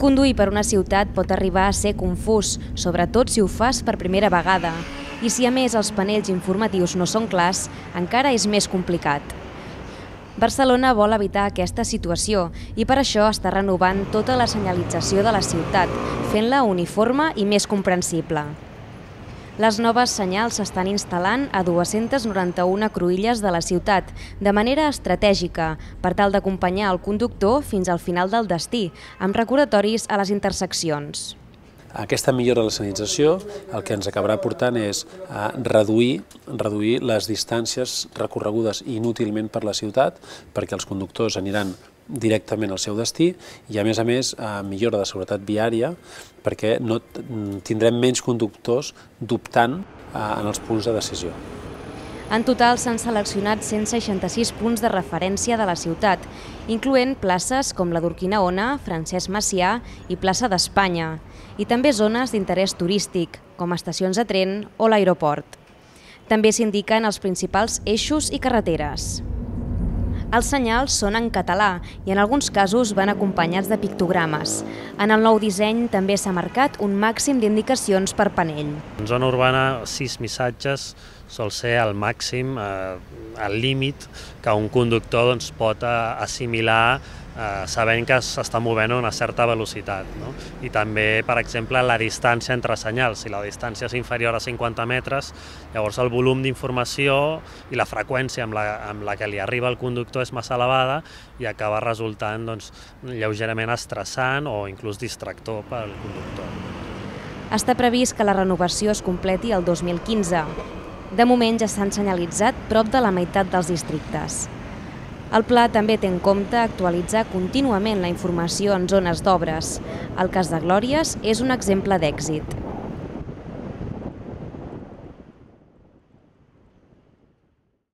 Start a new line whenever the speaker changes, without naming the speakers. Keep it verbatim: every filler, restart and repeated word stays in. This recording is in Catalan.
Conduir per una ciutat pot arribar a ser confús, sobretot si ho fas per primera vegada. I si a més els panells informatius no són clars, encara és més complicat. Barcelona vol evitar aquesta situació i per això està renovant tota la senyalització de la ciutat, fent-la uniforme i més comprensible. Les noves senyals s'estan instal·lant a dues-centes noranta-una cruïlles de la ciutat, de manera estratègica, per tal d'acompanyar el conductor fins al final del destí, amb recordatoris a les interseccions.
Aquesta millora de la senyalització el que ens acabarà portant és a reduir, reduir les distàncies recorregudes inútilment per la ciutat, perquè els conductors aniran directament al seu destí i, a més a més, millora de seguretat viària perquè no tindrem menys conductors dubtant en els punts de decisió.
En total s'han seleccionat cent seixanta-sis punts de referència de la ciutat, incloent places com la d'Urquinaona, Francesc Macià i Plaça d'Espanya, i també zones d'interès turístic, com estacions de tren o l'aeroport. També s'indiquen els principals eixos i carreteres. Els senyals són en català i en alguns casos van acompanyats de pictogrames. En el nou disseny també s'ha marcat un màxim d'indicacions per panell.
En zona urbana, sis missatges sol ser el màxim, el límit que un conductor pot assimilar sabent que s'està movent a una certa velocitat. I també, per exemple, la distància entre senyals. Si la distància és inferior a cinquanta metres, llavors el volum d'informació i la freqüència amb la que li arriba al conductor és massa elevada i acaba resultant lleugerament estressant o inclús distractor per al conductor.
Està previst que la renovació es completi el dos mil quinze. De moment ja s'han senyalitzat prop de la meitat dels districtes. El pla també té en compte actualitzar contínuament la informació en zones d'obres. El cas de Glòries és un exemple d'èxit.